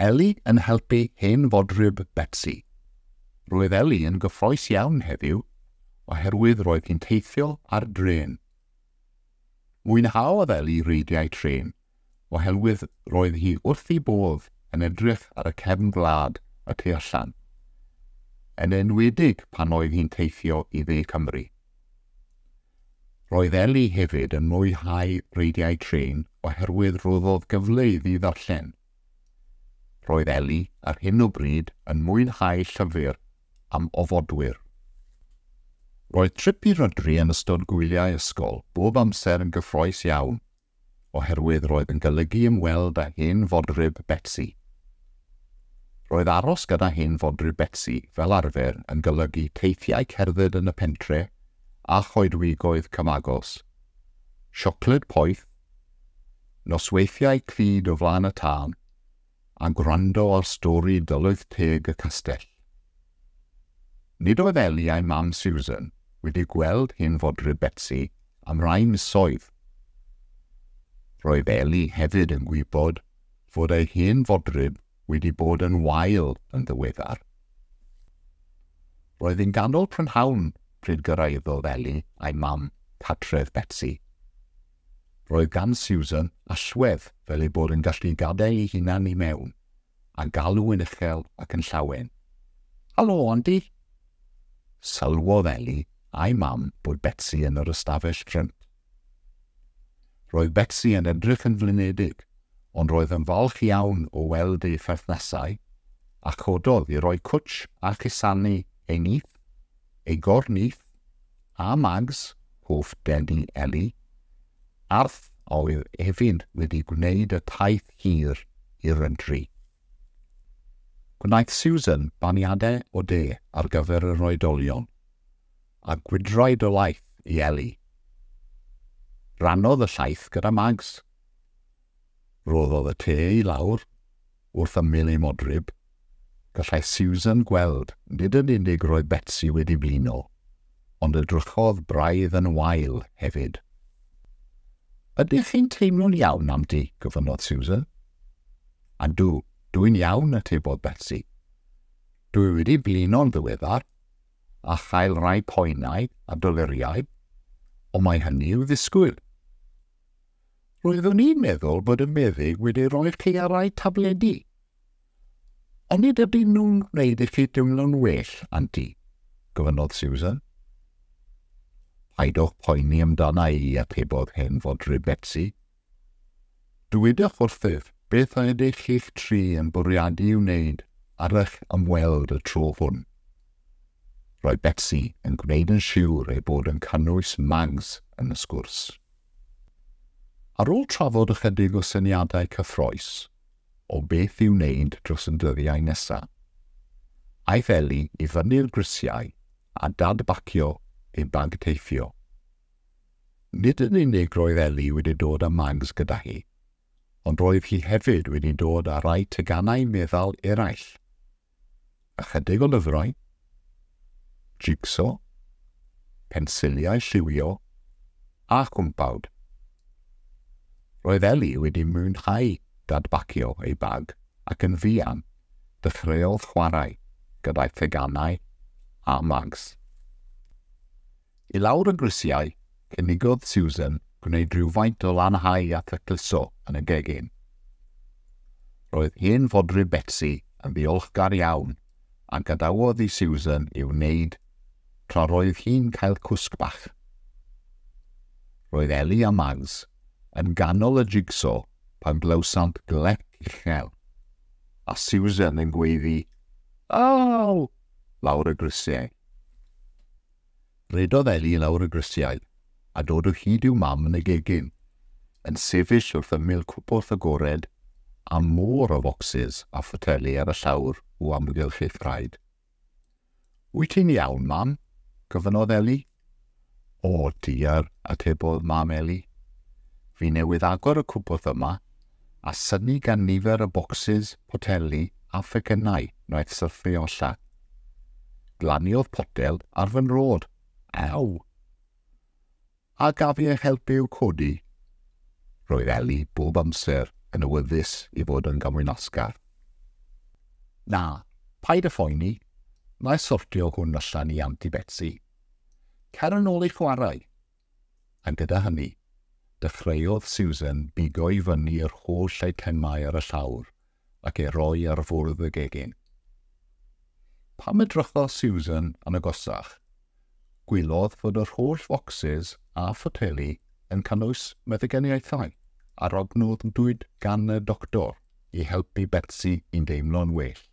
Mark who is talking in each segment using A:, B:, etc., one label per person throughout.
A: Eli yn helpu hen fodryb Betsi. Roedd Eli yn gyffrous iawn heddiw, oherwydd roedd hi'n teithio ar drên. Mwynhaodd Eli reidiau trên, oherwydd roedd hi wrth ei bodd yn edrych ar y cefn gwlad y tu allan, yn enwedig pan oedd hi'n teithio i dde Cymru. Roedd Eli hefyd yn mwynhau reidiau trên oherwydd rhoddodd gyfle iddi ddarllen. Roedd Eli ar hyn o bryd yn mwynhau llyfr am ofodwyr. Roedd trip i Rydri yn ystod gwyliau ysgol bob amser yn gyffrous iawn, oherwydd roedd yn golygu ymweld â hen fodryb Betsi. Roedd aros gyda hen fodryb Betsi fel arfer yn golygu teithiau cerdded yn y pentre a choedwigoedd cyfagos, siocled poeth, nosweithiau clyd o flaen y tân, a gwrando ar stori dylwyth teg y castell. Nid oedd Eli a'i mam Susan wedi gweld hen fodryb Betsi am rai misoedd. Roedd Eli hefyd yn gwybod fod ei hen fodryb wedi bod yn wael yn ddiweddar. Roedd hi'n ganol prynhawn pryd gyrhaeddodd Eli a'i mam cartref Betsi. Roedd gan Susan allwedd fel ei bod yn gallu gadael ei hunan i mewn, a galw yn uchel ac yn llawen. "Helo, Anti!" Sylwodd Eli a'i mam bod Betsi yn yr ystafell ffrynt. Roedd Betsi yn edrych yn flinedig, ond roedd yn falch iawn o weld ei pherthnasau, a chododd i roi cwtsh a chusanu ei nith, ei gornith, a Mags, hoff dedi Eli, arth oedd hefyd wedi gwneud y taith hir i Rydri. Gwnaeth Susan baniadau o de ar gyfer yr oedolion, a gwydraid o laeth i Eli. Rannodd y llaeth gyda Mags. Rhoddodd y te i lawr wrth ymyl ei modryb. Gallai Susan gweld nid yn unig roedd Betsi wedi blino, ond edrychodd braidd yn wael hefyd. "Ydych chi'n teimlo'n iawn, Anti?" gofynnodd Susan. "Ydw, dwi'n iawn," atebodd Betsi. "Dwi wedi blino'n ddiweddar, a chael rhai poenau a doluriau, ond mae hynny i'w ddisgwyl." "Roeddwn i'n meddwl bod y meddyg wedi rhoi chi ar rai tabledi. Onid ydyn nhw'n gwneud i chi deimlo'n well, Anti?" gofynnodd Susan. "Paidwch poeni amdana i," atebodd hen fodryb Betsi. "Dywedwch wrthyf beth ydych chi'ch tri yn bwriadu i'w wneud ar eich ymweld y tro hwn." Roedd Betsi yn gwneud yn siwr ei bod yn cynnwys Mags yn y sgwrs. Ar ôl trafod ychydig o syniadau cyffrous o beth i'w wneud dros y dyddiau nesaf, aeth Eli i fyny'r grisiau a dadbacio ei bag teithio. Nid yn unig roedd Eli wedi dod â Mags gyda hi, ond roedd hi hefyd wedi dod â rhai teganau meddal eraill, ychydig o lyfrau, jig-so, pensiliau lliwio a chwmpawd. Roedd Eli wedi mwynhau dadbacio ei bag ac yn fuan dechreuodd chwarae gyda'i theganau a Mags. I lawr y grisiau, cynigodd Susan gwneud rhywfaint o lanhau a thacluso yn y gegin. Roedd hen fodryb Betsi yn ddiolchgar iawn a gadawodd i Susan i'w wneud tra roedd hi'n cael cwsg bach. Roedd Eli a Mags yn ganol y jig-so pan glywsant glec uchel, a Susan yn gweiddi "Aw!" lawr y grisiau. Rhedodd Eli lawr y grisiau a dod o hyd i'w mam yn y gegin, yn sefyll wrth ymyl cwpwrdd agored a môr o focsys a photeli ar y llawr o amgylch ei thraed. "Wyt ti'n iawn, Mam?" gofynnodd Eli. "O, diar," atebodd mam Eli. "Fi newydd agor y cwpwrdd yma a synnu gan nifer y bocsys, poteli a phecynnau wnaeth syrthio allan. Glaniodd potel ar fy nrod. Aw! A gaf i eich helpu i'w codi?" Roedd Eli bob amser yn awyddus i fod yn gymwynasgar. Na, paid â phoeni, na i sortio hwn allan i Anti Betsi. Cer yn ôl i chwarae. A gyda hynny, dechreuodd Susan bigo i fyny yr holl eitemau ar y llawr ac ei roi ar fwrdd y gegin. Pam edrychodd Susan yn agosach, gwelodd fod yr holl focsys a photeli yn cynnwys meddyginiaethau a rognodwyd gan y doctor i helpu Betsi i deimlo'n well.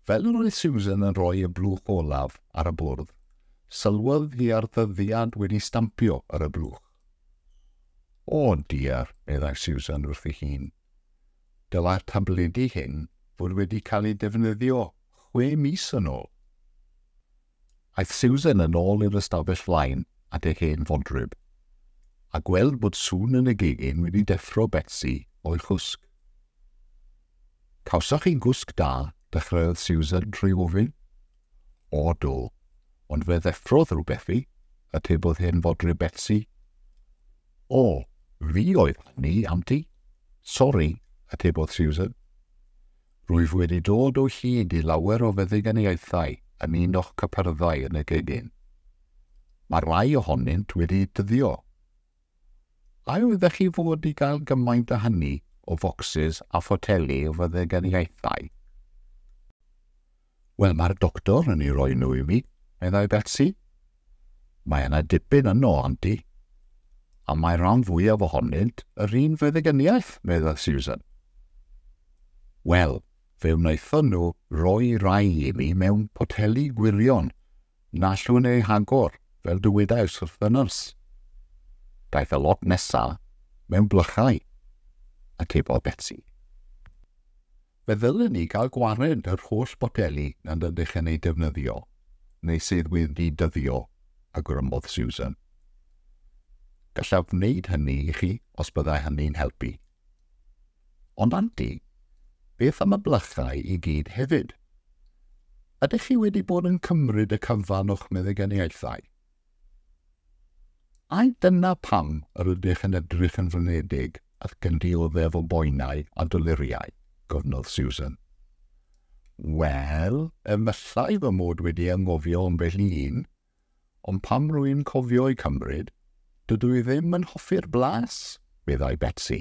A: Fel yr oedd Susan yn rhoi y blwch olaf ar y bwrdd, sylwodd hi ar ddyddiad wedi stampio ar y blwch. O diar, meddai Susan wrth ei hun. Dylai'r tabledi hyn fod wedi cael eu defnyddio 6 mis yn ôl. Aeth Susan yn ôl i'r ystafell flaen at ei hen fodryb, a gweld bod sŵn yn y gegin wedi deffro Betsi o'i chwsg. Cawsoch chi gwsg da, dechreuodd Susan trwy ofyn. O do, ond fe ddeffrodd rhywbeth fi, atebodd hen fodryb Betsi. O, fi oedd hynny, Anti. Sori, atebodd Susan. Rwyf wedi dod o hyd i lawer o feddyganiaethau yn un o'ch cypyrddau yn y gegin. Mae rhai ohonynt wedi dyddio. A oeddech chi fod i gael gymaint o hynny o focsys a photeli o feddyganiaethau? Wel, mae'r doctor yn ei roi nhw i mi, meddai Betsi. Mae yna dipyn yno, Anti. A mae rhan fwyaf ohonynt yr un feddyganiaeth, meddai Susan. Wel, fe wnaethon nhw roi rai i mi mewn poteli gwirion na allwn eu hagor, fel dywedais wrth y nyrs. Daeth y lot nesaf mewn blychau, atebodd Betsi. Fe ddylen ni gael gwared yr holl boteli nad ydych yn eu defnyddio, neu sydd wedi dyddio, awgrymodd Susan. Gallaf wneud hynny i chi os byddai hynny'n helpu. Ond Anti, beth am y blychau i gyd hefyd? Ydych chi wedi bod yn cymryd y cyfan o'ch meddyganiaethau? Ai dyna pam yr ydych yn edrych yn flinedig ac yn dioddef o boenau a doluriau, gofynnodd Susan. Wel, efallai fy mod wedi anghofio ambell un, ond pam rwy'n cofio eu cymryd, dydw i ddim yn hoffi'r blas, meddai Betsi.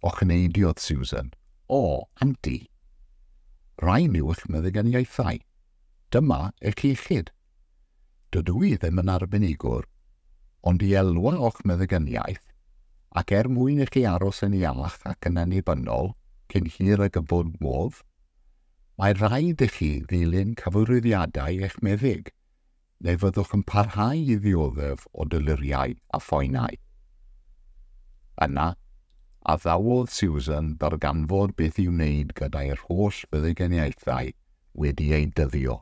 A: Ochneidiodd Susan. O, Anti. Rhain yw eich meddyganiaethau. Dyma eich iechyd. Dydw i ddim yn arbenigwr, ond i elwa o'ch meddyganiaeth, ac er mwyn i chi aros yn iach ac yn annibynnol cyn hir ag y bod modd, mae rhaid i chi ddilyn cyfarwyddiadau eich meddyg, neu fyddwch yn parhau i ddioddef o doluriau a phoenau. Yna, addawodd Susan ddarganfod beth i'w wneud gyda'r holl feddyganiaethau wedi eu dyddio.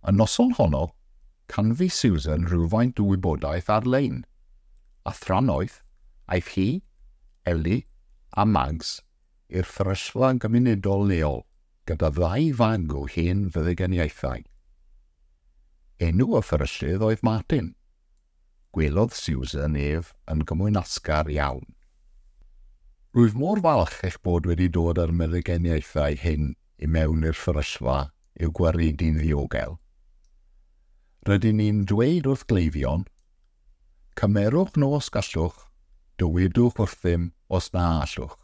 A: Y noson honno, canfu Susan rhywfaint o wybodaeth ar-lein, a thrannoeth aeth hi, Ellie a Mags i'r fferyllfa gymunedol leol gyda ddau fag o hen feddyganiaethau. Enw y fferyllydd oedd Martin. Gwelodd Susan ef yn gymwynasgar iawn. Rwyf mor falch eich bod wedi dod â'r meddyganiaethau hyn i mewn i'r fferyllfa i'w gwaredu'n ddiogel. Rydyn ni'n dweud wrth gleifion, cymerwch nhw os gallwch, dywedwch wrthym os na allwch.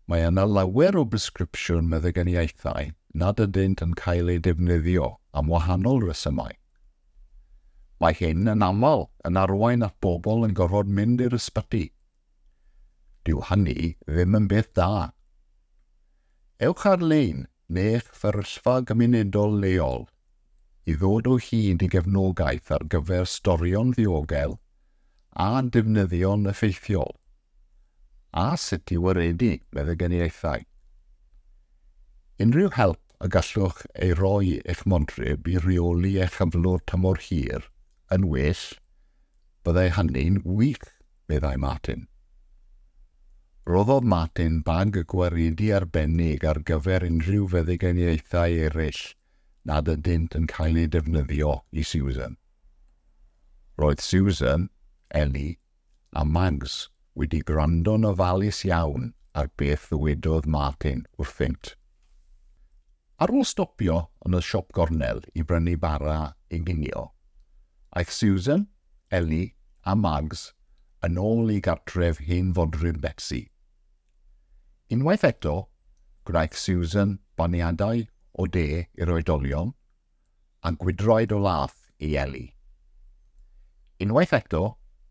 A: Mae yna lawer o bresgripsiwn meddyganiaethau nad ydynt yn cael eu defnyddio am wahanol resymau. Mae hyn yn aml yn arwain at bobl yn gorfod mynd i'r ysbyty. Dyw hynny ddim yn beth da. Ewch ar-lein neu'ch fferyllfa gymunedol leol i ddod o hyd i gefnogaeth ar gyfer storio'n ddiogel a defnyddio'n effeithiol, a sut i waredu meddyganiaethau. Unrhyw help y gallwch ei roi eich modryb i reoli eich cyflwr tymor hir yn well, byddai hynny'n wych, meddai Martin. Roddodd Martin bag y gwaredu arbennig ar gyfer unrhyw feddyganiaethau eraill nad ydynt yn cael eu defnyddio i Susan. Roedd Susan, Ellie a Mags wedi gwrando'n ofalus iawn ar beth ddywedodd Martin wrthynt. Ar ôl stopio yn y siop gornel i brynu bara i ginio, aeth Susan, Ellie a Mags yn ôl i gartref hen fodryb Betsi. Unwaith eto, gwnaeth Susan baniadau o de i'r oedolion a gwydraid o laeth i Ellie. Unwaith eto,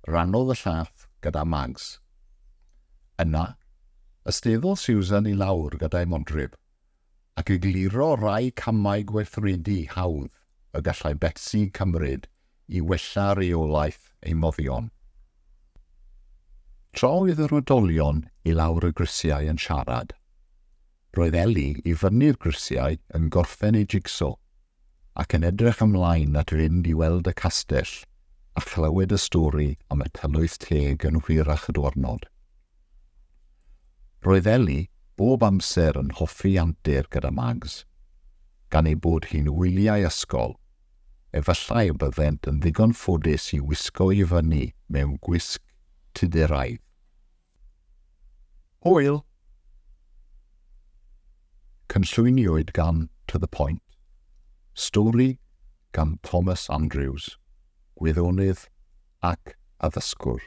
A: rannodd y llaeth gyda Mags. Yna, ysteddodd Susan i lawr gyda'i modryb ac egluro rai camau gweithredu hawdd y gallai Betsi cymryd i wella rheolaeth ei moddion. Tra oedd yr oedolion i lawr y grisiau yn siarad, roedd Ellie i fyny'r grisiau yn gorffen ei jigso ac yn edrych ymlaen at fynd i weld y castell a chlywed y stori am y tylwyth teg yn hwyrach y diwrnod. Roedd Ellie bob amser yn hoffi antur gyda Mags, gan ei bod hi'n wyliau ysgol, efallai y byddent yn ddigon ffodus i wisgo i fyny mewn gwisg Tuduraidd. Hwyl! Cynllwyniwyd gan To The Point. Stori gan Thomas Andrews, gwyddonydd ac addysgwr.